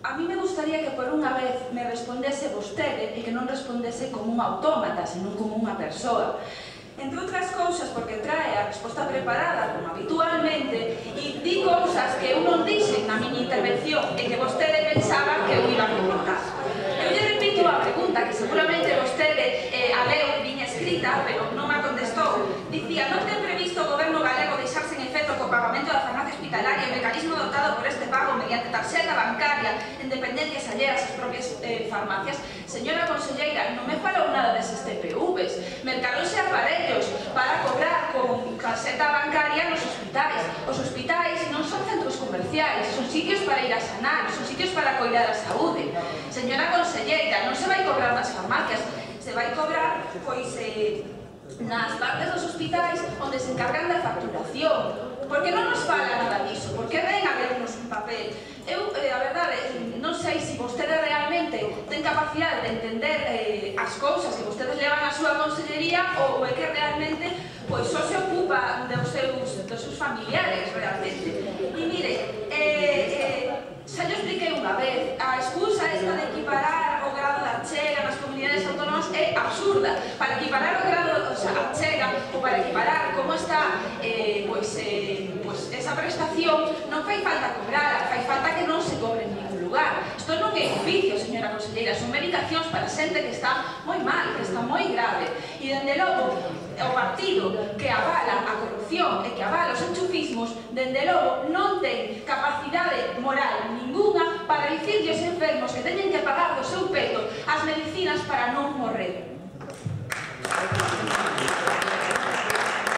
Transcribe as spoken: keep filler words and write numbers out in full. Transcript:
a mí me gustaría que por unha vez me respondese vostede e que non respondese como un autómata, senón como unha persoa. Entre outras cousas, porque trae a resposta preparada, como habitualmente, e di cousas que eu non dixen na miña intervención e que vostede pensaba que eu iba a comentar. Eu lle repito a pregunta, que seguramente vostede eh, a leu viña escrita, pero non me contestou. Dicía, non ten previsto o goberno galego deixarse en efecto co pagamento da farmacia hospitalaria e o mecanismo dotado por este pago mediante tarxeta bancaria en dependencias alleas ás propias eh, farmacias. Señora conselleira, non me falou nada deses T P Vs. Mercaronse aparellos para cobrar con tarxeta bancaria nos hospitais. Os hospitais non son centros comerciais, son sitios para ir a sanar, son sitios para coidar a saúde. Señora conselleira, non se vai cobrar nas farmacias, se vai cobrar, pois, eh, nas partes dos hospitais onde se encargan da facturación. Porque non nos fala nada diso, porque ven a vernos un papel. Eu, eh, a verdade, non sei se vostede realmente ten capacidade de entender eh, as cousas que vostedes levan á súa consellería ou é que realmente pois só se ocupa dos seus, dos seus familiares, realmente. E mire, eh, eh, xa yo expliquei unha vez, a excusa esta de equiparar o grado da achega nas comunidades autónomas é absurda. Para equiparar o grado da achega ou para equiparar como está eh, pois, eh, pois esa prestación, non fai falta cobrar, fai falta que non se cobre en ningún lugar. Isto non é oficio, señora conselleira, son medicacións para xente que está moi mal, que está moi grave. E, dende logo, o partido que avala a corrupción e que avala os enchufismos, dende logo, non ten capacidade moral ninguna para dicirlle aos enfermos que teñen que pagar do seu peto as medicinas para non morrer.